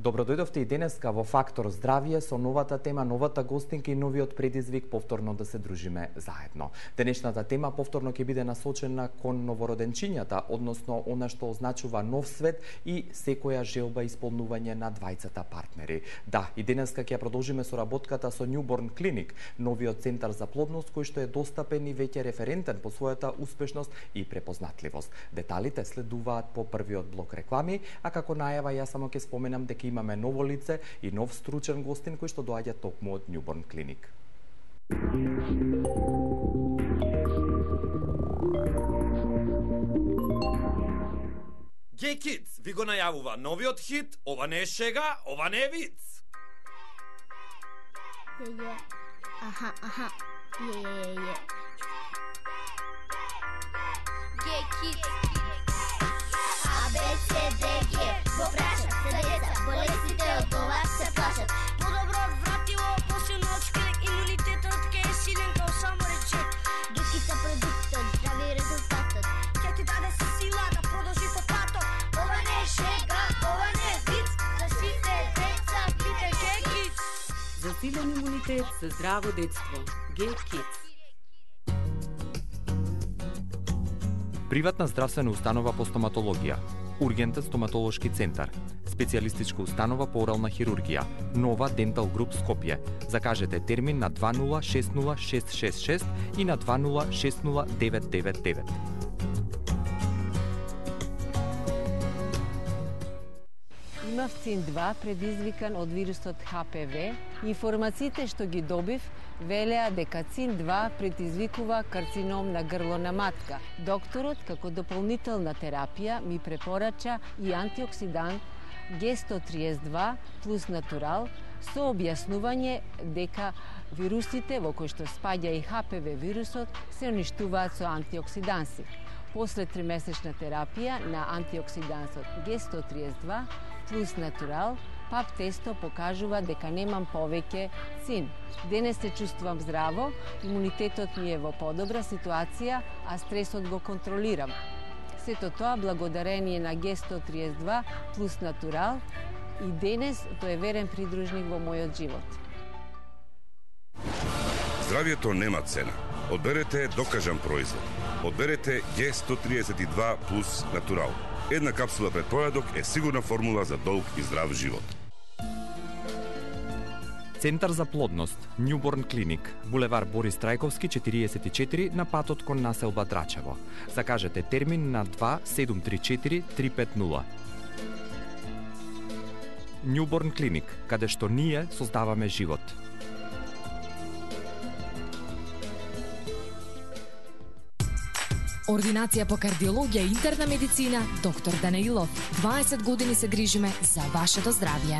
Добро дојдовте и денеска во Фактор здравје со новата тема, новата гостинка и новиот предизвик повторно да се дружиме заедно. Денешната тема повторно ќе биде насочена кон новороденчињата, односно она што означува нов свет и секоја желба исполнување на двајцата партнери. Да, и денеска ќе продолжиме соработката со Newborn Clinic, новиот центар за плодност кој што е достапен и веќе референтен по својата успешност и препознатливост. Деталите следуваат по првиот блок реклами, а како најава јас само ќе споменам дека имаме ново лице и нов стручен гостин кој што доаѓа токму од Newborn Clinic. Gay Kids ви го најавува новиот хит, ова не е шега, ова не е виц. Аха. Gay Kids. A, B, C, D, G. Го прашат се деца, болестите од ова се плашат. Подобро вратило, посилно од шкрек, имунитетот ке е силен као само речек. Докица продуктот, здрави резултатот. Ке ти даде се сила да продолжи по патот. Ова не е шега, ова не е виц. За сите деца, пите Gay Kids. За силен имунитет, за здраво детство. Gay Kids. Приватна здравствена установа по стоматологија, ургентен стоматолошки центар, специјалистичка установа по орална хирургија, Нова Дентал Груп Скопје. Закажете термин на 20606666 и на 2060999. Имав ЦИН-2 предизвикан од вирусот ХПВ. Информациите што ги добив велеа дека ЦИН-2 предизвикува карцином на грло на матка. Докторот, како дополнителна терапија, ми препорача и антиоксидант Г132 плюс натурал со објаснување дека вирусите во кои што спаѓа и ХПВ вирусот се уништуваат со антиоксиданси. После 3-месечна терапија на антиоксидансот Г132 плюс натурал, ПАП тесто покажува дека немам повеќе цин. Денес се чувствувам здраво, имунитетот ми е во подобра ситуација, а стресот го контролирам. Сето тоа благодарение на Г132 плюс натурал и денес тој е верен придружник во мојот живот. Здравието нема цена. Одберете докажан производ. Одберете Г132 плюс натурал. Една капсула пред појадок е сигурна формула за долг и здрав живот. Центар за плодност, Newborn Clinic, булевар Борис Трајковски 44 на патот кон населба Драчево. Закажете термин на 2734 350. Newborn Clinic, каде што ние создаваме живот. Ординација по кардиологија и интерна медицина, доктор Данаилов. 20 години се грижиме за вашето здравје.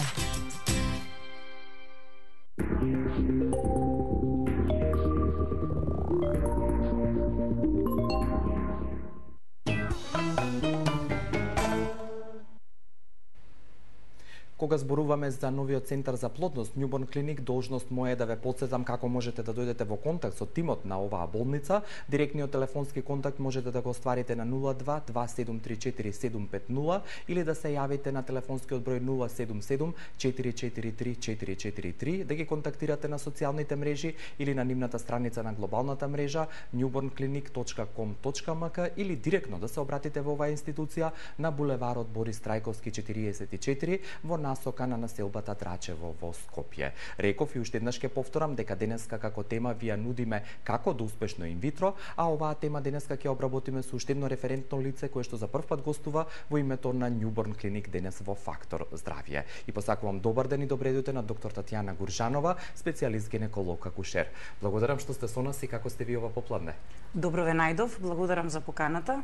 Кога зборуваме за новиот центар за плодност Newborn Clinic, должност моја е да ве потсетам како можете да дојдете во контакт со тимот на оваа болница. Директниот телефонски контакт можете да го остварите на 02 2734 750 или да се јавите на телефонскиот број 077 443 443, да ги контактирате на социјалните мрежи или на нивната страница на глобалната мрежа newbornclinic.com.mk или директно да се обратите во оваа институција на булеварот Борис Трајковски 44 во насока на населбата Драчево во Скопје. Реков и уште еднаш ќе повторам дека денеска како тема ви ја нудиме како да успешно инвитро, а оваа тема денеска ќе обработиме со уште едно референтно лице кое што за прв пат гостува во името на Newborn Clinic денес во Фактор здравје. И посакувам добар ден и добре дојдете на доктор Татјана Гуржанова, специјалист гинеколог акушер. Благодарам што сте со нас и како сте ви ова попладне. Добро ве најдов, благодарам за поканата.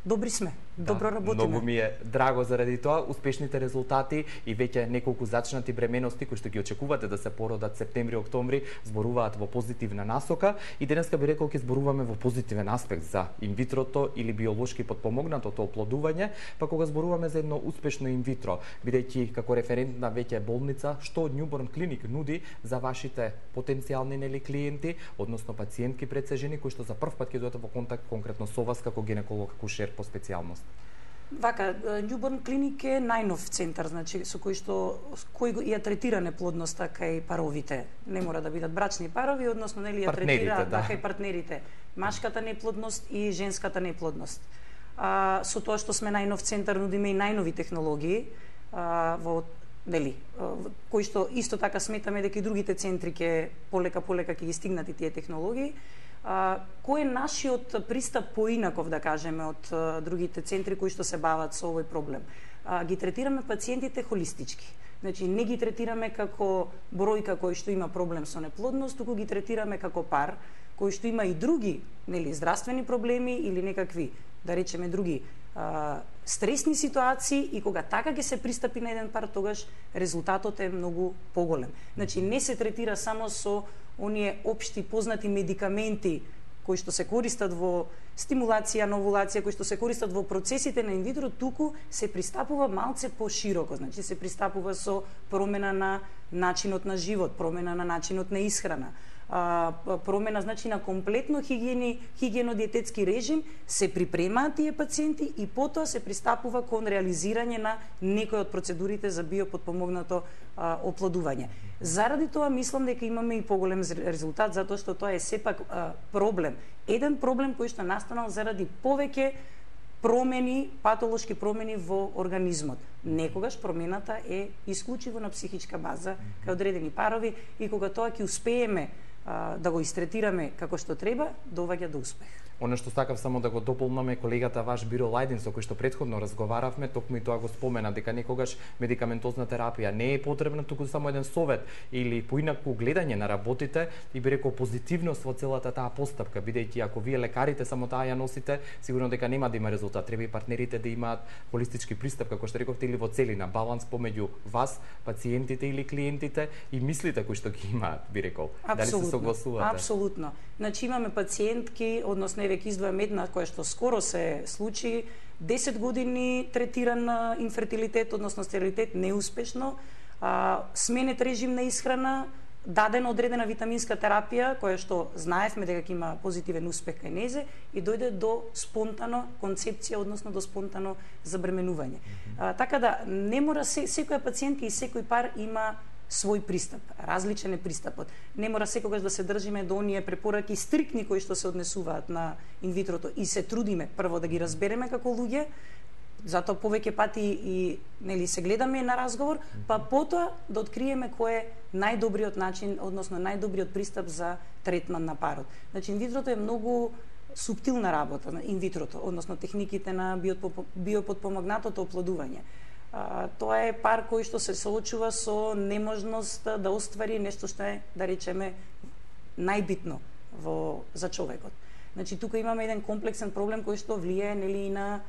Добри сме, добро работиме. Многу ми е драго заради тоа, успешните резултати и веќе неколку зачнати бременности кои што ги очекувате да се породат септември-октомври зборуваат во позитивна насока и денеска би рекол ќе зборуваме во позитивен аспект за инвитрото или биолошки потпомогнатото оплодување, па кога зборуваме за едно успешно инвитро, бидејќи како референтна веќе болница, што Newborn Clinic нуди за вашите потенцијални клиенти, односно пациентки пред се жени кои што за прв пат ќе дојдат во контакт конкретно со вас како гинеколог акушер по специјалност? Вака, Newborn Clinic е најнов центар, значи со кој ја третира неплодноста кај паровите. Не мора да бидат брачни парови, односно нели ја третира кај партнерите, машката неплодност и женската неплодност. Со тоа што сме најнов центар, нудиме и најнови технологии во кои што исто така сметаме дека и другите центри ќе полека ќе ги стигнат и тие технологии. Кој е нашиот пристап поинаков, да кажеме, од другите центри кои што се бават со овој проблем? Ги третираме пациентите холистички. Значи, не ги третираме како бројка кој што има проблем со неплодност, туку ги третираме како пар кој што има и други, здравствени проблеми или некакви, да речеме, други стресни ситуации, и кога така ќе се пристапи на еден пар, тогаш резултатот е многу поголем. Значи, не се третира само со оние општи познати медикаменти кои што се користат во стимулација на овулација, кои што се користат во процесите на инвитро, туку се пристапува малце пошироко. Значи, се пристапува со промена на начинот на живот, промена на начинот на исхрана, промена, значи, на комплетно хигиено-диететски режим, се припремаат тие пациенти и потоа се пристапува кон реализирање на некои од процедурите за биопотпомогнато оплодување. Заради тоа мислам дека имаме и поголем резултат, затоа што тоа е сепак проблем. Еден проблем кој што настанал заради повеќе промени, патолошки промени во организмот. Некогаш промената е исклучиво на психичка база кај одредени парови, и кога тоа ќе успееме да го истретираме како што треба, доваѓа до успех. Оно што сакав само да го дополнаме, колегата ваш Биро Лајдин, со кој што претходно разговаравме, токму и тоа го спомена, дека некогаш медикаментозна терапија не е потребна, туку само еден совет или поинаку гледање на работите, и би рекол позитивност во целата таа постапка, бидејќи ако вие лекарите само таа ја носите, сигурно дека нема да има резултат. Треба и партнерите да имаат холистички пристап, како што рековте, или во целина, баланс помеѓу вас, пациентите или клиентите, и мислите кои што ги имаат, би рекол. Дали се согласувате? Апсолутно. Значи, имаме пациентки, односно еве ќе издвојам една која што скоро се случи, 10 години третиран инфертилитет, односно стерилитет неуспешно, сменет режим на исхрана, дадена одредена витаминска терапија, која што знаевме дека ќе има позитивен успех кај незе, и дојде до спонтано концепција, односно до спонтано забременување. Така да, не мора секоја пациентка и секој пар има свој пристап, различен е пристапот. Не мора секогаш да се држиме до оние препораки стрикни кои што се однесуваат на инвитрото, и се трудиме прво да ги разбереме како луѓе, затоа повеќе пати и се гледаме на разговор, па потоа да откриеме кој е најдобриот начин, односно најдобриот пристап за третман на парот. Значи, инвитрото е многу суптилна работа, инвитрото, односно техниките на биопотпомогнатото оплодување. Тоа е пар кој што се соочува со неможност да оствари нешто што е, да речеме, најбитно за човекот. Значи, тука имаме еден комплексен проблем кој што влијае и на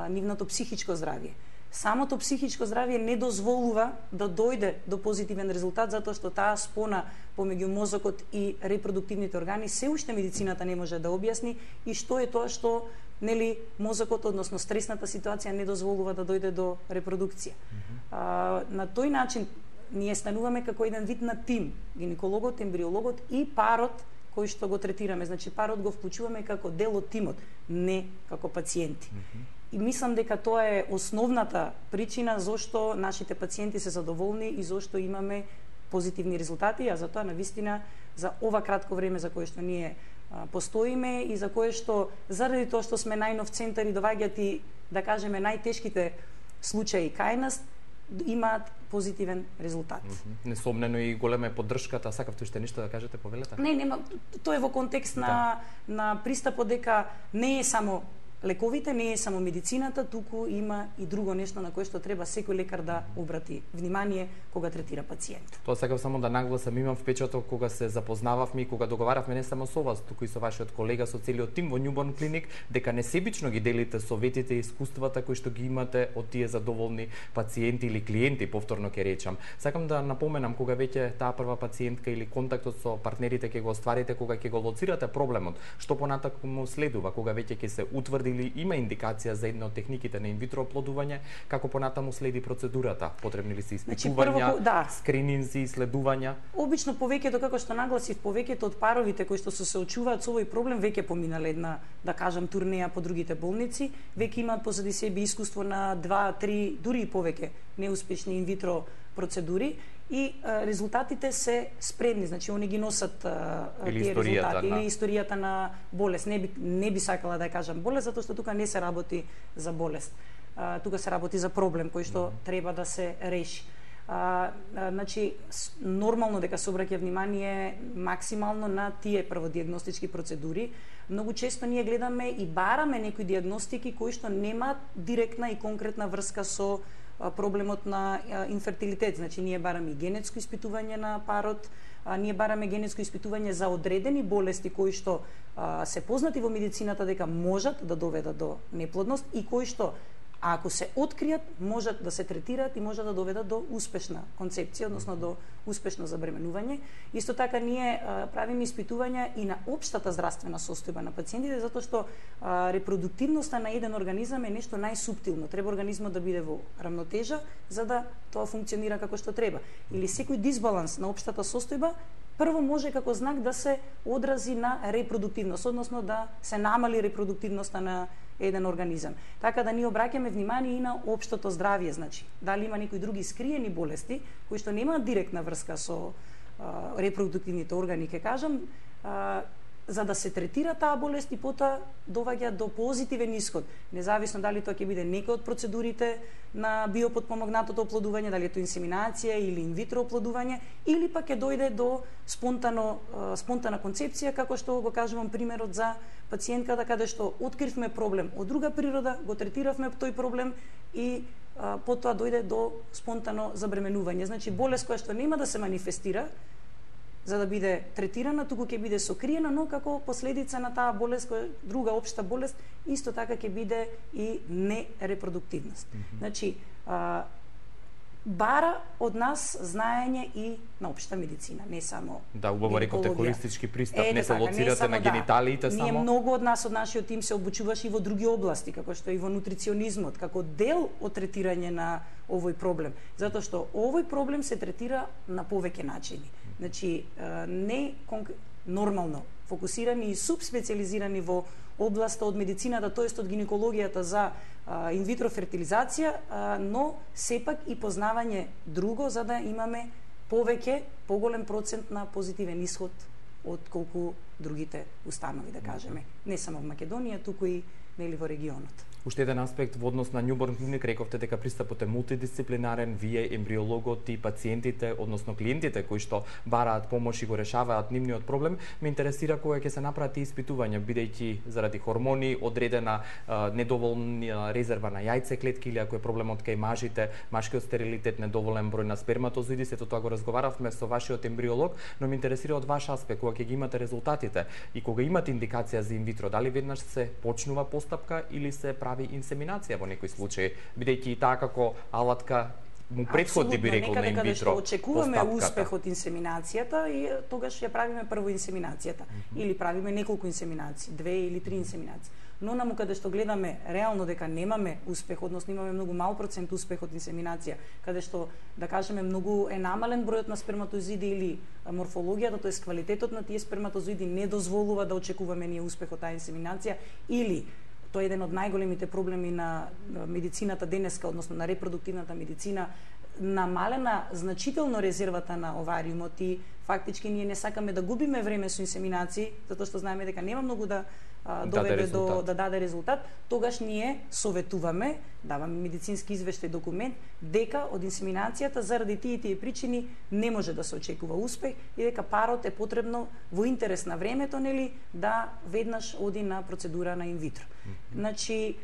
нивното психичко здравје. Самото психичко здравје не дозволува да дојде до позитивен резултат, затоа што таа спона помеѓу мозокот и репродуктивните органи се уште медицината не може да објасни, и што е тоа што мозокот, односно стресната ситуација, не дозволува да дојде до репродукција. На тој начин ние стануваме како еден вид на тим, гинекологот, ембриологот и парот кој што го третираме. Значи, парот го вклучуваме како дел од тимот, не како пациенти. И мислам дека тоа е основната причина зошто нашите пациенти се задоволни и зошто имаме позитивни резултати, а затоа навистина за ова кратко време за кое што ние постоиме и за кое што, заради тоа што сме најнов центар и доваѓаат и, да кажеме, најтешките случаи кај нас, имаат позитивен резултат. Несомнено и голема е поддршката. Сакавте уште нешто да кажете, повелете? Не, нема, тоа е во контекст на пристапот дека не е само лековите, не е само медицината, туку има и друго нешто на кое што треба секој лекар да обрати внимание кога третира пациент. Тоа сакав само да нагласам, имам впечаток кога се запознававме и кога договаравме не само со вас, туку и со вашиот колега, со целиот тим во Newborn Clinic, дека несебично ги делите советите и искуствата кои што ги имате од тие задоволни пациенти или клиенти, повторно ќе речам. Сакам да напоменам, кога веќе таа прва пациентка или контактот со партнерите ќе го остварите, кога ќе го лоцирате проблемот, што понатаку му следува, кога веќе ќе се утврди или има индикација за една од техниките на инвитро оплодување, како понатаму следи процедурата? Потребни ли се испитувања, скрининзи, исследувања? Обично повеќето, како што нагласив, повеќето од паровите кои што се очуваат со овој проблем веќе поминале една, да кажам, турнеја по другите болници, веќе имаат позади себе искуство на 2, 3, дури и повеќе неуспешни инвитро процедури и резултатите се спредни, значи они ги носат тие резултати или историјата на болест. Не би сакала да ја кажам болест, затоа што тука не се работи за болест. Тука се работи за проблем кој што треба да се реши. Значи, нормално дека се обраќа внимание максимално на тие прводиагностички процедури. Многу често ние гледаме и бараме некои диагностики кои што немаат директна и конкретна врска со проблемот на инфертилитет. Значи, ние бараме и генетско испитување на парот, ние бараме генетско испитување за одредени болести кои што се познати во медицината дека можат да доведат до неплодност и кои што ако се откријат, можат да се третираат и можат да доведат до успешна концепција, односно до успешно забременување. Исто така ние правиме испитувања и на општата здравствена состојба на пациентите, затоа што репродуктивноста на еден организам е нешто најсуптилно. Треба организмот да биде во рамнотежа за да тоа функционира како што треба. Или секој дисбаланс на општата состојба прво може како знак да се одрази на репродуктивност, односно да се намали репродуктивноста на еден организам. Така да ние обраќаме внимание и на општото здравје, значи, дали има некои други скриени болести кои што немаат директна врска со репродуктивните органи, ќе кажам, за да се третира таа болест и потоа доваѓа до позитивен исход, независно дали тоа ќе биде некој од процедурите на биопотпомогнатото оплодување, дали е тоа инсеминација или инвитро оплодување, или пак ќе дојде до спонтана концепција, како што го кажувам примерот за пациентката каде што откривме проблем од друга природа, го третиравме тој проблем и потоа дојде до спонтано забременување. Значи болест која што нема да се манифестира за да биде третирана, туку ќе биде сокриена, но како последица на таа болест, која друга општа болест, исто така ќе биде и нерепродуктивност. Значи, бара од нас знаење и на општа медицина, не само да, убаво рековте холистички пристап, не се лоцирате на гениталиите само. Ние многу од нас од нашиот тим се обучуваше и во други области, како што и во нутриционизмот, како дел од третирање на овој проблем, затоа што овој проблем се третира на повеќе начини. Значи, не нормално фокусирани и субспециализирани во областа од медицината, тоест од гинекологијата за инвитро фертилизација, но сепак и познавање друго за да имаме поголем процент на позитивен исход од колку другите установи, да кажеме. Не само во Македонија, туку и нели во регионот. Уште еден аспект во однос на Newborn Clinic, рековте дека пристапот е мултидисциплинарен, вие ембриологот и пациентите, односно клиентите кои што бараат помош и го решаваат нивниот проблем, ме интересира кога ќе се направат испитувања, бидејќи заради хормони, одредена недоволна резерва на јајце клетки или ако е проблемот кај мажите, машкиот стерилитет, недоволен број на сперматозоиди, сето тоа го разговаравме со вашиот ембриолог, но ме интересира од ваш аспект кога ќе ги имате резултатите и кога имате индикација за инвитро, дали веднаш се почнува постапка или се прави инсеминација во некој случај, бидејќи и таа како алатка му претходи, би рекол, на инвитро постапката. Очекуваме успех од инсеминацијата и тогаш ја правиме прво инсеминацијата. Или правиме неколку инсеминации, 2 или 3 инсеминации. Но наму каде што гледаме реално дека немаме успех, односно имаме многу мал процент успех од инсеминација, каде што, да кажеме, многу е намален бројот на сперматозоиди или морфологијата, тоест квалитетот на тие сперматозоиди не дозволува да очекуваме ние успех од таа инсеминација, или тоа е еден од најголемите проблеми на медицината денеска, односно на репродуктивната медицина, намалена значително резервата на овариумот и фактички ние не сакаме да губиме време со инсеминации, затоа што знаеме дека нема многу да доведе до да даде резултат, тогаш ние советуваме, даваме медицински извештај документ дека од инсеминацијата заради тие причини не може да се очекува успех и дека парот е потребно во интерес на времето, нели, да веднаш оди на процедура на инвитро. Значи,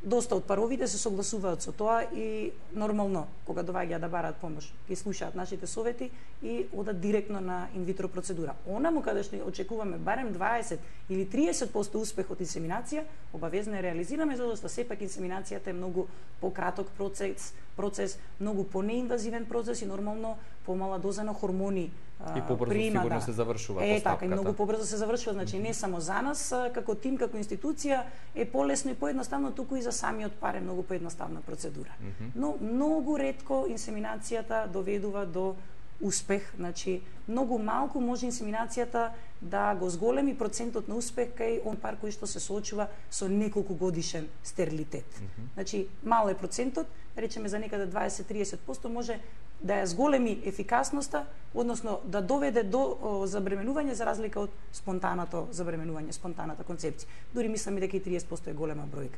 доста од паровите се согласуваат со тоа и нормално кога доаѓаат да бараат помош, ќе слушаат нашите совети и одат директно на инвитро процедура. Онаму каде што очекуваме барем 20 или 30% успех од инсеминација, обавезно ја реализираме, затоа што сепак инсеминацијата е многу пократок процес, многу понеинвазивен процес и нормално помала доза на хормони и побрзо прима, сигурно се завршува постапката. Така, и многу побрзо се завршува, значи не само за нас како тим, како институција е полесно и поедноставно, туку и за самиот пар е многу поедноставна процедура. Но многу ретко инсеминацијата доведува до успех, значи многу малку може инсеминацијата да го зголеми процентот на успех кај он пар кој што се соочува со неколку годишен стерилитет. Значи мал е процентот, речеме за некаде 20-30% може да ја зголеми ефикасноста, односно да доведе до забременување за разлика од спонтаното забременување, спонтаната концепција. Дури мислам дека и 30% е голема бројка.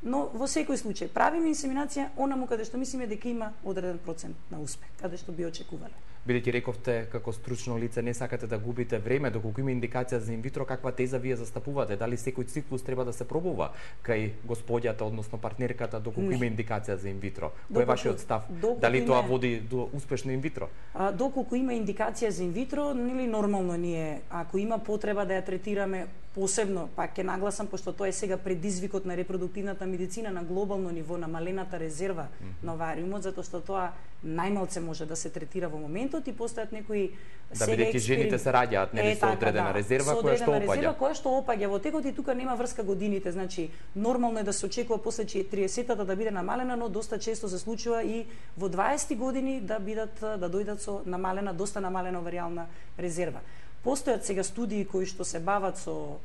Но во секој случај правиме инсеминација онаму каде што мислиме дека има одреден процент на успех, каде што би очекувале. Бидејќи рековте како стручно лице не сакате да губите време, доколку има индикација за инвитро, каква теза вие застапувате? Дали секој циклус треба да се пробува кај господјата, односно партнерката, доколку има индикација за инвитро? Кој е вашиот став? Дали тоа води до успешно инвитро? Доколку има индикација за инвитро, нели нормално ние, ако има потреба да ја третираме посебно, пак ќе нагласам, пошто тоа е сега предизвикот на репродуктивната медицина на глобално ниво, намалената резерва на овариумот, затоа што тоа најмалце може да се третира во моментот и постојат некои бидејќи жените се раѓаат, нели со одредена резерва која што опаѓа. Резерва која што опаѓа во текот и тука нема врска годините, значи нормално е да се очекува после 30-тата да биде намалена, но доста често се случува и во 20 години да дојдат со намалена, доста намалена оваријална резерва. Постојат сега студии кои што се бават со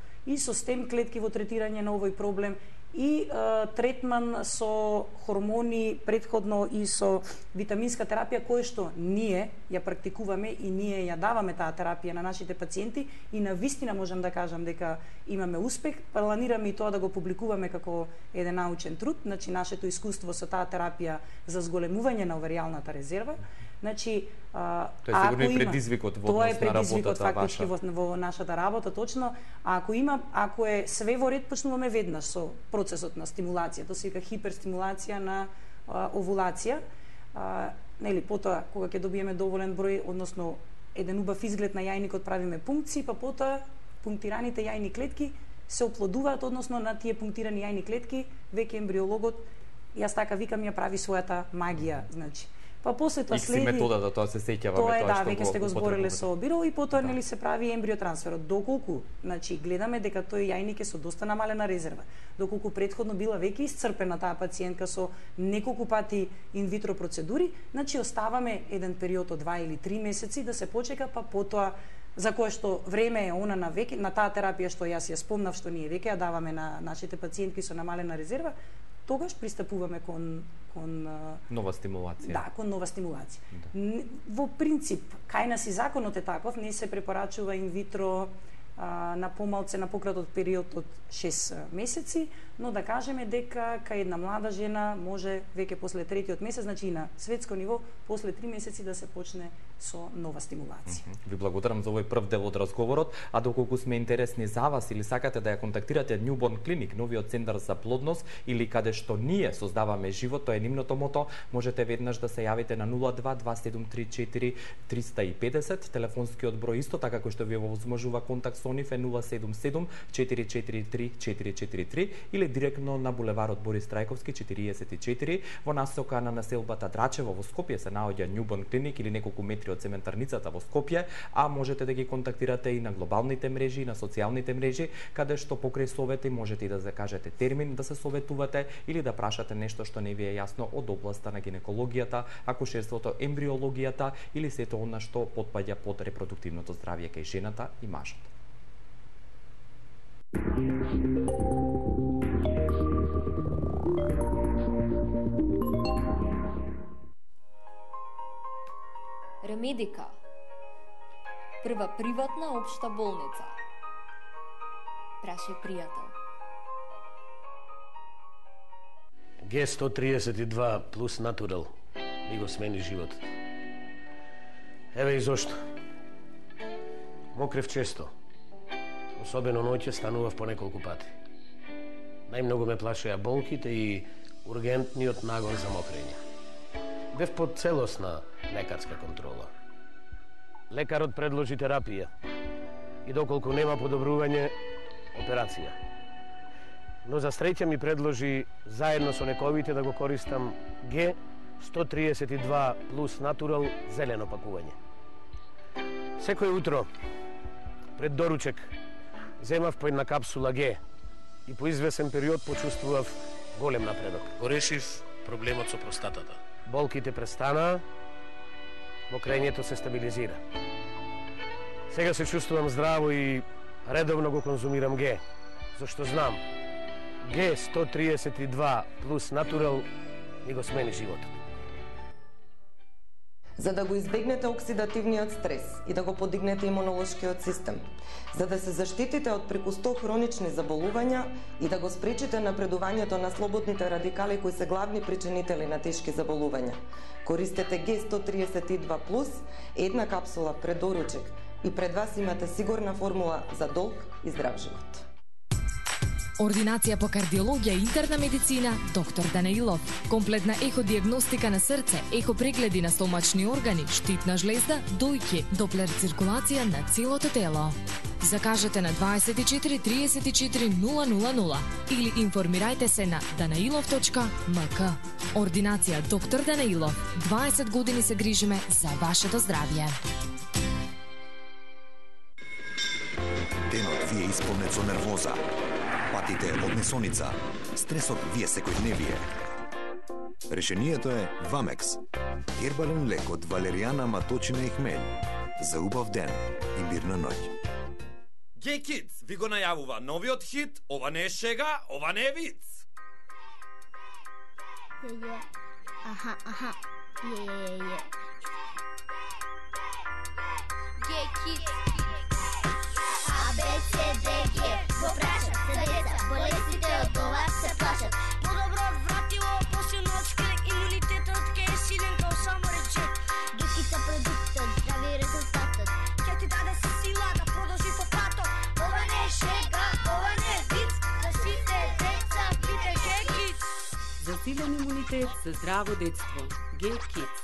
стем клетки во третирање на овој проблем и третман со хормони предходно и со витаминска терапија која што ние ја практикуваме и ние ја даваме таа терапија на нашите пациенти и на вистина можам да кажам дека имаме успех. Планираме и тоа да го публикуваме како еден научен труд, значи нашето искуство со таа терапија за зголемување на оваријалната резерва. Значи, тоа е сигурно и предизвикот во однос на работата фактички во нашата работа, точно. Ако е све во ред, почнуваме веднаш со процесот на стимулација, тоа се вика хиперстимулација на овулација. Нели, потоа кога ќе добиеме доволен број, односно еден убав изглед на јајникот, правиме пункции, па потоа пунктираните јајни клетки се оплодуваат, односно на тие пунктирани јајни клетки веќе ембриологот, јас така викам, ја прави својата магија, значи. Па после тоа следи методата, тоа се сеќаваме, тоа е, да, веќе сте го збореле со Биро и потоа нели се прави ембриотрансферот. Доколку, значи гледаме дека тој јајник е со доста намалена резерва, доколку претходно била веќе исцрпена таа пациентка со неколку пати инвитро процедури, значи оставаме еден период од 2 или 3 месеци да се почека, па потоа за кое што време е она на веќе на таа терапија што јас ја спомнав, што ние веќе ја даваме на нашите пациентки со намалена резерва, тогаш пристапуваме кон нова стимулација. Да, кон нова стимулација. Да. Во принцип, кај нас и законот е таков, не се препорачува инвитро на помалце на пократот период од 6 месеци, но да кажеме дека кај една млада жена може веќе после третиот месец, значи и на светско ниво, после 3 месеци да се почне со нова стимулација. Ви благодарам за овој прв дел од разговорот, а доколку сме интересни за вас или сакате да ја контактирате Newborn Clinic, новиот центар за плодност, или каде што ние создаваме живот, тоа е нивното мото, можете веднаш да се јавите на 02 2734 350, телефонскиот број исто така кој што ви овозможува контакт со нив е 077 443 443 или директно на булеварот Борис Трајковски 44 во насока на населбата Драчево во Скопје се наоѓа Newborn Clinic или неколку метри од цементарницата во Скопје, а можете да ги контактирате и на глобалните мрежи и на социјалните мрежи, каде што покрај совете можете и да закажете термин да се советувате или да прашате нешто што не ви е јасно од областа на гинекологијата, акушерството, ембриологијата или сето она што потпаѓа под репродуктивното здравје кај жената и мажот. Ремедика, прва приватна општа болница. Праше пријател. Г132 плюс натурал ми го смени животот. Еве и зошто. Мокрев често. Особено ноќе станував по неколку пати. Најмногу ме плашеа болките и ургентниот нагон за мокрење. Бев под целосна лекарска контрола. Лекарот предложи терапија и доколку нема подобрување, операција. Но за среќа ми предложи заедно со лековите да го користам 132 плюс натурал зелено пакување. Секој утро пред доручек земав по една капсула Г и по извесен период почувствував голем напредок. Го решив проблемот со простатата. Болките престанаа, мокрењето се стабилизира. Сега се чувствувам здраво и редовно го конзумирам Г, зашто знам, Г 132 плюс натурал ми го смени животот. За да го избегнете оксидативниот стрес и да го подигнете имунолошкиот систем, за да се заштитите од преку 100 хронични заболувања и да го спречите напредувањето на слободните радикали кои се главни причинители на тешки заболувања. Користете Г132+, една капсула пред доручек и пред вас имате сигурна формула за долг и здрав живот. Ординација по кардиологија и интерна медицина, доктор Данаилов. Комплетна еходиагностика на срце, ехопрегледи на стомачни органи, штитна жлезда, дојки, доплер циркулација на целото тело. Закажете на 24 34 000 или информирајте се на danailov.mk. Ординација доктор Данаилов. 20 години се грижиме за вашето здравје. Денот ви е исполнет со нервоза. Патите од несоница, стресот ви е секојдневие. Решението е Вамекс. Хербален лек од валеријана, маточина и хмель. За убав ден и мирна ноќ. Gay Kids ви го најавува новиот хит "Ова не е шега, ова не е виц". Аха. Gay Kids. ABCDG. Го прашат се деца, болестите од това се плашат. Подобро вратило, посилно од шкрек, имунитетот ке е силен као само речет. Гекица продуктот, здрави резултатот. Ке ти даде сила да продолжи по патот. Ова не е шега, ова не е виц. За сите деца, пите Gay Kids. За силен имунитет, за здраво детство. Gay Kids.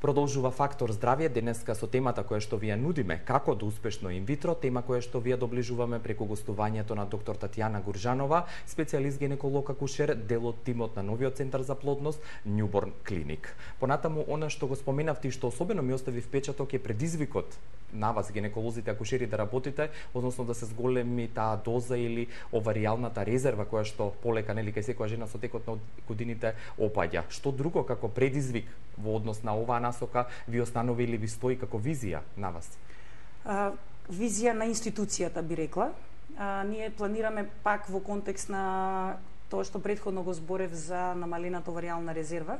Продолжува Фактор здравје денеска со темата која што ви ја нудиме како да успешно инвитро, тема која што ви ја доближуваме преку гостувањето на доктор Татјана Гуржанова, специјалист гинеколог акушер, дел од тимот на новиот центар за плодност Newborn Clinic. Понатаму она што го споменавте и што особено ми остави впечаток е предизвикот на вас гинеколозите акушери да работите, односно да се зголеми таа доза или оваријалната резерва која што полека нели кај секоја жена со текот на годините опаѓа. Што друго како предизвик во однос на оваа насока ви останови или ви стои како визија на вас? Визија на институцијата би рекла. Ние планираме пак во контекст на тоа што претходно го зборев за намалената оваријална резерва.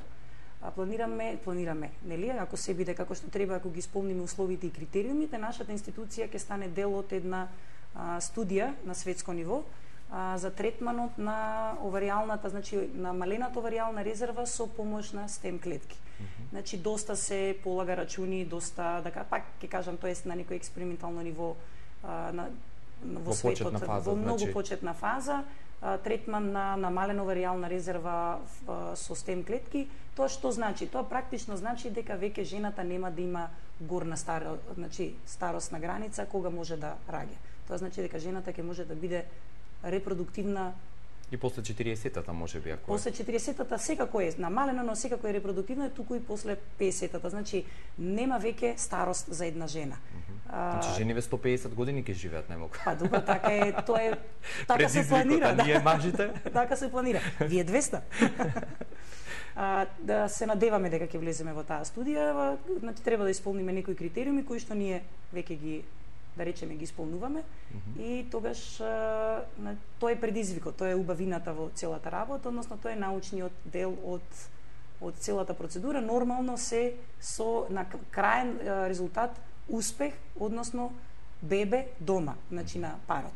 Планираме, нели, ако се биде како што треба, ако ги исполниме условите и критериумите, нашата институција ќе стане дел од една студија на светско ниво за третманот на оваријалната, значи намалената оваријална резерва со помош на стем клетки. Значи доста се полага рачуни, доста, пак ќе кажам, тоа е на некој експериментално ниво во светот, во многу почетна фаза, третман на намалена оваријална резерва со стем клетки. Тоа што значи? Тоа практично значи дека веќе жената нема да има горна старосна граница кога може да раѓа. Тоа значи дека жената ќе може да биде репродуктивна и после 40-тата можеби ако после 40-тата секако е намалено, но секако е репродуктивна, туку и после 50-тата. Значи нема веќе старост за една жена. Значи жениве 150 години ќе живеат најмногу. Па добро, така е, тоа е така се планира, да. Ние мажите? Така се планира. Вие 200. Да се надеваме дека ќе влеземе во таа студија, значи треба да исполниме некои критериуми кои што ние веќе ги, да речеме, ги исполнуваме и тогаш тоа е предизвикот, тоа е убавината во целата работа, односно тоа е научниот дел од целата процедура. Нормално се со на краен резултат успех, односно бебе дома, значи на парот.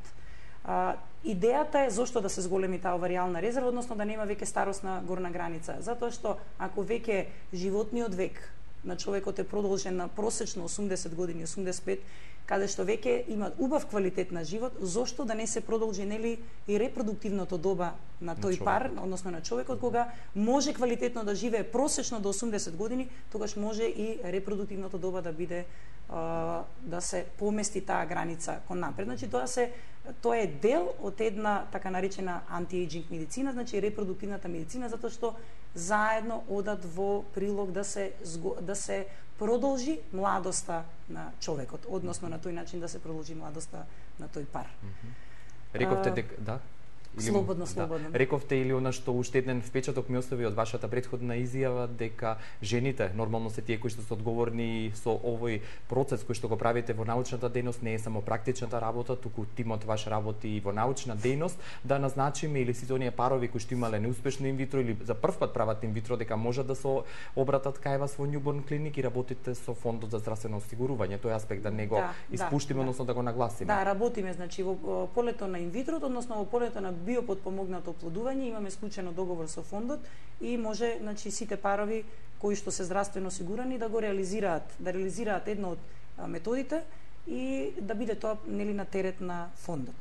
Идејата е зошто да се зголеми таа оваријална резерва, односно да нема веќе старосна горна граница, затоа што ако веќе животниот век на човекот е продолжен на просечно 80 години, 85, каде што веќе имаат убав квалитет на живот, зошто да не се продолжи нели и репродуктивното доба на тој пар, односно на човекот, кога може квалитетно да живее просечно до 80 години, тогаш може и репродуктивното доба да биде да се помести таа граница кон напред. Значи тоа е дел од една така наречена анти-ејджинг медицина, значи репродуктивната медицина, затоа што заедно одат во прилог да се продолжи младоста на човекот, односно на тој начин да се продолжи младоста на тој пар. Рековте дека да. Слободно. Рековте или она што уште еден впечаток ми остави од вашата претходна изјава дека жените нормално се тие кои што се одговорни со овој процес кој што го правите во научната дејност, не е само практичната работа, туку тимот ваш работи и во научна дејност, да назначиме или сите оние парови кои што имале неуспешно инвитро или за прв пат прават инвитро, дека можат да се обратат кај вас во Newborn Clinic и работите со фондот за здравствено осигурување. Тој аспект да не го испуштиме, односно да го нагласиме. Да, работиме значи во полето на инвитрото, односно во полето на биопотпомогнато оплодување, имаме склучено договор со фондот и може значи сите парови кои што се здравствено осигурани да го реализираат една од методите и да биде тоа нели на терет на фондот.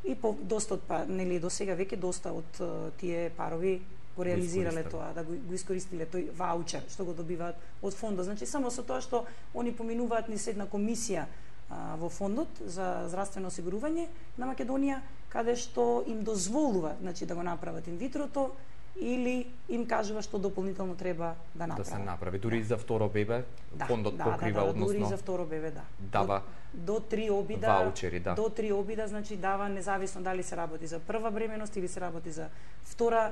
И доста нели до сега веќе доста од тие парови го реализирале тоа, да го искористиле тој ваучер што го добиваат од фондот. Значи само со тоа што они поминуваат низ една комисија во фондот за здравствено осигурување на Македонија, каде што им дозволува значи да го направат инвитрото или им кажува што дополнително треба да направат. Да се направи дури и за второ бебе, фондот покрива односно. Дури и за второ бебе, дава до 3 обида ваучери, до 3 обида, значи дава независно дали се работи за прва бременост или се работи за втора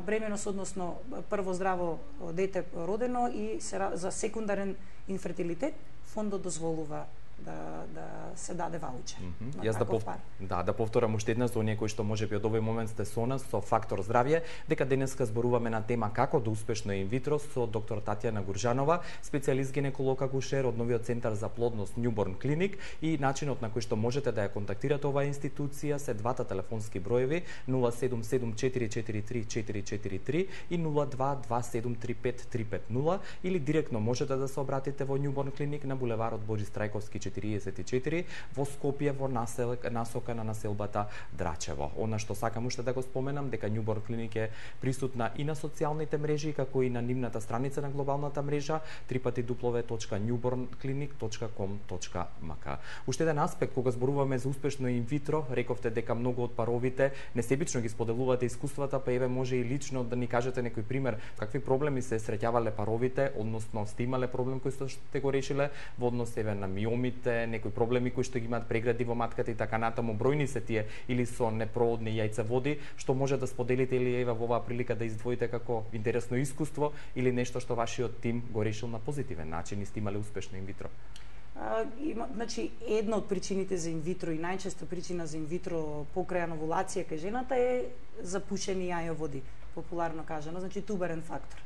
бременост, односно прво здраво дете родено и за секундарен инфертилитет, фондот дозволува да се даде ваучер. Јас да повторам уште еднаш за оние кои што можеби од овој момент сте со нас со Фактор здравје, дека денеска зборуваме на тема како да успешно инвитро со доктор Татјана Гуржанова, специјалист гинеколог акушер од новиот центар за плодност Newborn Clinic, и начинот на кој што можете да ја контактирате оваа институција се двата телефонски броеви 077443443 и 022735350 или директно можете да се обратите во Newborn Clinic на булеварот Борис Трајковски 44 во Скопје во насока на населбата Драчево. Она што сакам уште да го споменам дека Newborn Clinic е присутна и на социјалните мрежи како и на нивната страница на глобалната мрежа www.newbornclinic.com.mk. Уште еден аспект кога зборуваме за успешно инвитро, рековте дека многу од паровите несебично ги споделувате искуствата, па еве може и лично да ни кажете некој пример какви проблеми се среќавале паровите, односно сте имале проблем кој што сте го решиле во однос еве на миомите, некои проблеми кои што ги имаат прегради во матката и така натаму, бројни се тие или со непроводни јајцеводи, што може да споделите или еве во оваа прилика да издвоите како интересно искуство или нешто што вашиот тим го решил на позитивен начин и сте имале успешно инвитро? Значи, една од причините за инвитро и најчеста причина за инвитро покрај овулација кај жената е запушени јајоводи, популарно кажано, значи туберен фактор.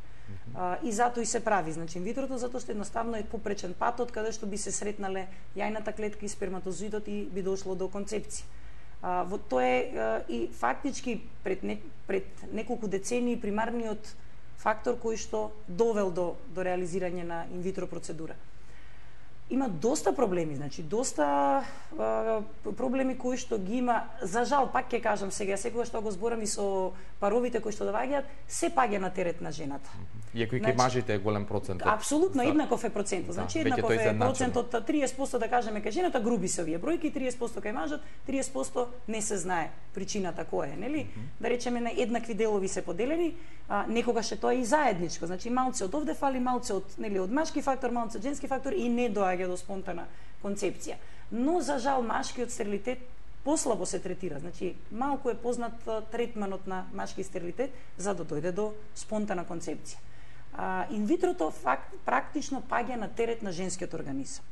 И затоа и се прави, значи инвитрото, затоа што едноставно е попречен патот каде што би се сретнале јајната клетка и сперматозоидот и би дошло до концепција. Тоа е и фактички пред неколку децении примарниот фактор кој што довел до реализирање на инвитро процедура. Има доста проблеми, значи доста проблеми кои што ги има, за жал, пак ќе кажам сега, секогаш што го зборам и со паровите кои што доаѓаат, се паѓа на терет на жената. Иако и кај мажите е голем процент. Апсолутно, еднаков е процентот. Значи еднаков е процентот, 30% да кажеме кај жената, груби се овие бројки, 30% кај мажот, 30% не се знае причината која е, нели? Да речеме на еднакви делови се поделени, некогаш е тоа и заедничко, значи малце од овде фали, малце од нели од машки фактор, малце од женски фактор и не доаѓа до спонтана концепција. Но за жал машкиот стерилитет послабо се третира, значи малку е познат третманот на машки стерилитет за да дојде до спонтана концепција. Инвитрото практично паѓа на терет на женскиот организам.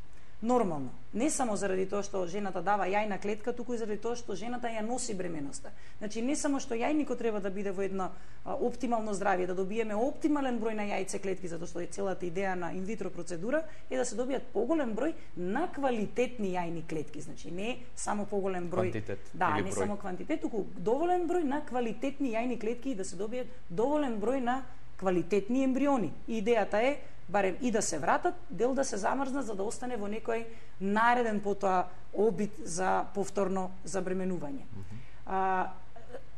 Нормално, не само заради тоа што жената дава јајна клетка, туку и заради тоа што жената ја носи бременоста. Значи не само што јајникот треба да биде во едно оптимално здравје, да добиеме оптимален број на јајце клетки, затоа што е целата идеја на инвитро процедура е да се добијат поголем број на квалитетни јајни клетки, значи не само поголем број, не само квантитет, туку доволен број на квалитетни јајни клетки и да се добијат доволен број на квалитетни ембриони. И идејата е барем и да се вратат, дел да се замрзнат за да остане во некој нареден потоа обид за повторно забременување.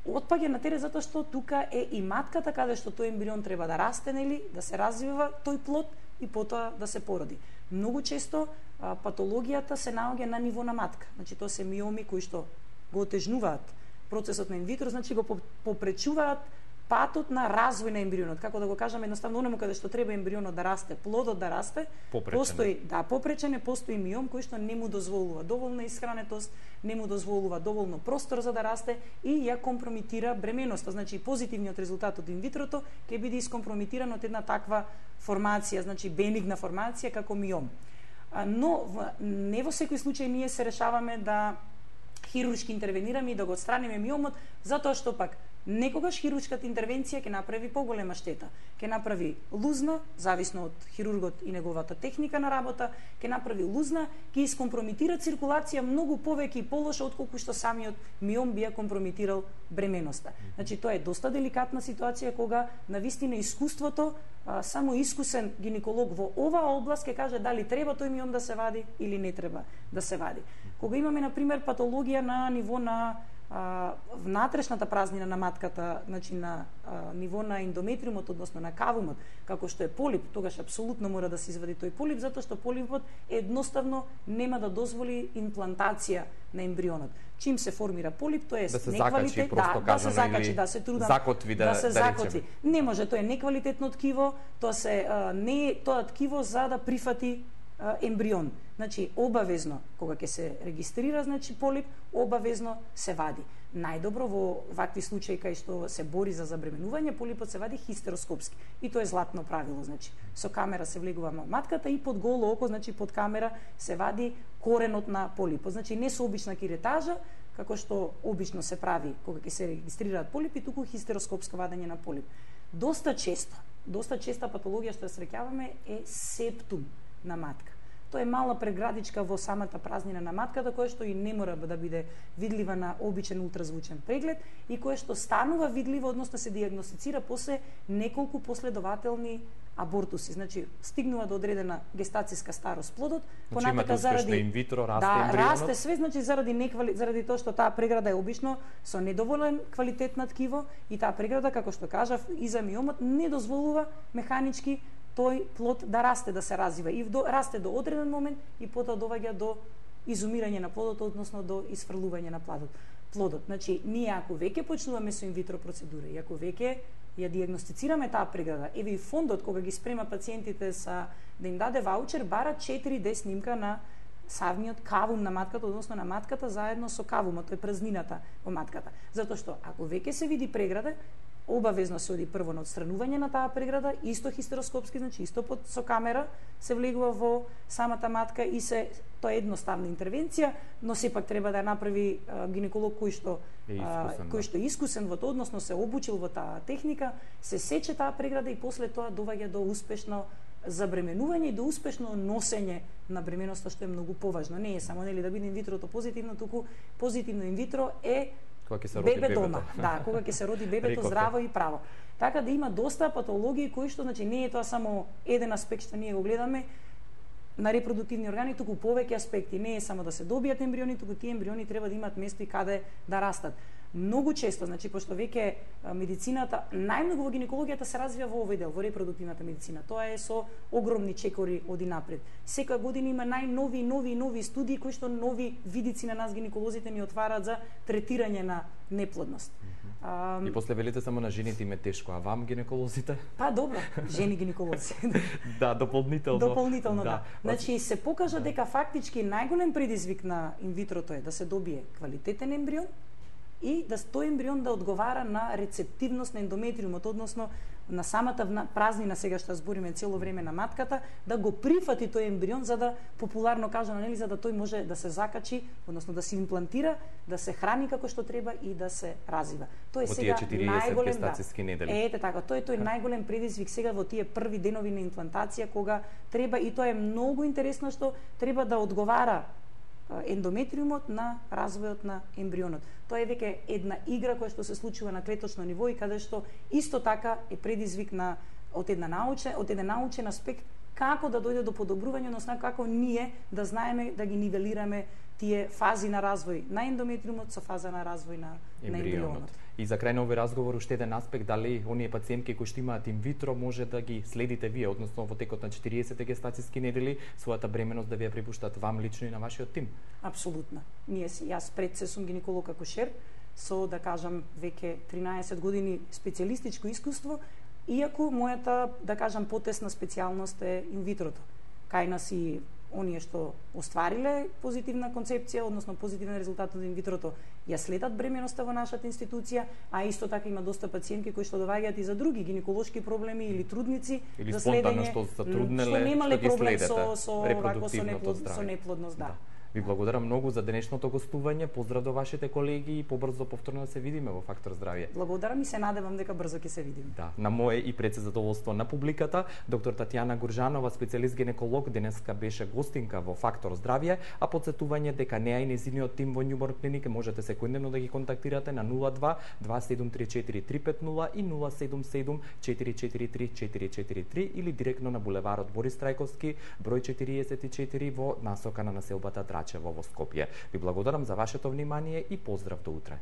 Отпаѓа на терен затоа што тука е и матката каде што тој ембрион треба да расте, нели, да се развива тој плод и потоа да се породи. Многу често патологијата се наоѓа на ниво на матка. Значи тоа се миоми кои што го отежнуваат процесот на инвитро, значи го попречуваат патот на развој на ембрионот. Како да го кажам, едноставно оному каде што треба ембрионот да расте, плодот да расте, постои, попречен постои миом кој што не му дозволува доволна исхранетост, не му дозволува доволно простор за да расте и ја компрометира бременоста. Значи позитивниот резултат од инвитрото ќе биде искомпрометиран од една таква формација, значи бенигна формација како миом. Но не во секој случај ние се решаваме да хируршки интервенираме и да го отстраниме миомот, затоа што пак некогаш хируршката интервенција ќе направи поголема штета. Ќе направи лузна, зависно од хирургот и неговата техника на работа, ќе направи лузна, ќе искомпрометира циркулација многу повеќе и полоша отколку што самиот миом би ја компрометирал бременоста. Значи тоа е доста деликатна ситуација кога навистина искуството, само искусен гинеколог во оваа област ќе каже дали треба тој миом да се вади или не треба да се вади. Кога имаме на пример патологија на ниво на внатрешната празнина на матката, значи на ниво на ендометриумот, односно на кавумот, како што е полип, тогаш апсолутно мора да се извади тој полип, затоа што полипот едноставно нема да дозволи имплантација на ембрионот. Чим се формира полип, тоа е неквалитет, да се закачи, да се трудам, закотви, да се закотви. Не може, тоа е неквалитетно ткиво, тоа се не е тоа ткиво за да прифати ембрион. Значи, обавезно, кога ќе се регистрира, значи, полип, обавезно се вади. Најдобро во вакви случаи кај што се бори за забременување, полипот се вади хистероскопски. И тоа е златно правило, значи. Со камера се влегува во матката и под голо око, значи под камера се вади коренот на полипот. Значи, не со обична киретажа, како што обично се прави кога ќе се регистрираат полипи, туку хистероскопско вадење на полип. Доста честа патологија што ја среќаваме е септум на матка. Тоа е мала преградичка во самата празнина на матката, која што и не мора да биде видлива на обичен ултразвучен преглед и која што станува видлива, односно се диагностицира после неколку последователни абортуси. Значи, стигнува до одредена гестацијска старост плодот, понатака заради инвитро расте ембрионот. Расте све, значи заради тоа што таа преграда е обично со недоволен квалитет на ткиво и таа преграда, како што кажав, и за миомот не дозволува механички тој плод да расте, да се развива и расте до одреден момент и потоа доваѓа до изумирање на плодот, односно до исфрлување на плодот. Значи, ние ако веќе почнуваме со инвитро процедура и ако веќе ја диагностицираме таа преграда, еве и фондот кога ги спрема пациентите да им даде ваучер, бара 4D снимка на савниот кавум на матката, односно на матката заедно со кавумот, тоа е празнината во матката. Затоа што ако веќе се види преграда, обавезно се оди прво на отстранување на таа преграда, исто хистероскопски, значи исто со камера се влегува во самата матка и тоа е едноставна интервенција, но сепак треба да ја направи гинеколог кој што е искусен во тоа, односно се обучил во таа техника, се сече таа преграда и после тоа доваѓа до успешно забременување и до успешно носење на бременоста, што е многу поважно. Не е само да биде инвитрото позитивно, туку позитивно инвитро е бебе дома. Да, кога ќе се роди бебето здраво и право. Така да има доста патологии кои што, значи, не е тоа само еден аспект што ние го гледаме на репродуктивни органи, туку повеќе аспекти. Не е само да се добијат ембриони, туку тие ембриони треба да имаат место и каде да растат. Многу често, значи, пошто веќе медицината, најмногу во гинекологијата се развива во овој дел, во репродуктивната медицина. Тоа е со огромни чекори оди напред. Секоја година има нови студии кои што нови видици на нас гинеколозите ни отвараат за третирање на неплодност. И после велите само на жените им е тешко, а вам гинеколозите? Па добро, жени гинеколози. Да, дополнително. Дополнително, да. Значи се покажа дека фактички најголем предизвик на инвитрото е да се добие квалитетен ембрион и да тој ембрион да одговара на рецептивност на ендометриумот, односно на самата празнина, сега што збориме цело време на матката, да го прифати тој ембрион, за да, популарно кажано, нели, за да тој може да се закачи, односно да се имплантира, да се храни како што треба и да се развива. Тоа е сега најголем гестацијски недели. Ете така, тој е најголем предизвик сега во тие први денови на имплантација, кога треба, и тоа е многу интересно што треба да одговара ендометриумот на развојот на ембрионот. Тоа е веќе една игра која што се случува на клеточно ниво и каде што исто така е предизвик на од еден научен аспект како да дојде до подобрување, односно како ние да знаеме да ги нивелираме тие фази на развој на ендометриумот со фаза на развој на ембрионот. И за крај на овој разговор уште еден аспект, дали оние пациентки кои што имаат инвитро може да ги следите вие, односно во текот на 40 гестацијски недели, својата бременост да ви ја препуштат вам лично и на вашиот тим? Апсолутно. Јас пред се сум гинеколог акушер со, да кажам, веќе 13 години специјалистичко искуство, иако мојата, да кажам, потесна специјалност е инвитрото. Кај нас и оние што оствариле позитивна концепција, односно позитивен резултат од инвитрото, ја следат бременоста во нашата институција, а исто така има доста пациентки кои што доаѓаат и за други гинеколошки проблеми или трудници или за следење, што затруднеле, што немале проблем со неплодност, да. Ви благодарам многу за денешното гостување. Поздрав до вашите колеги и побрзо повторно да се видиме во Фактор здравје. Благодарам и се надевам дека брзо ќе се видиме. Да, на мое и пред се задоволство на публиката, доктор Татјана Гуржанова, специјалист гинеколог, денеска беше гостинка во Фактор здравје, а потсетување дека неа и незиниот тим во Њуморк клиника можете секојдневно да ги контактирате на 02 2734 350 и 077 443 443 или директно на булеварот Борис Трајковски, број 44 во насока на населбата Драчево во Скопје. Ви благодарам за вашето внимание и поздрав до утре.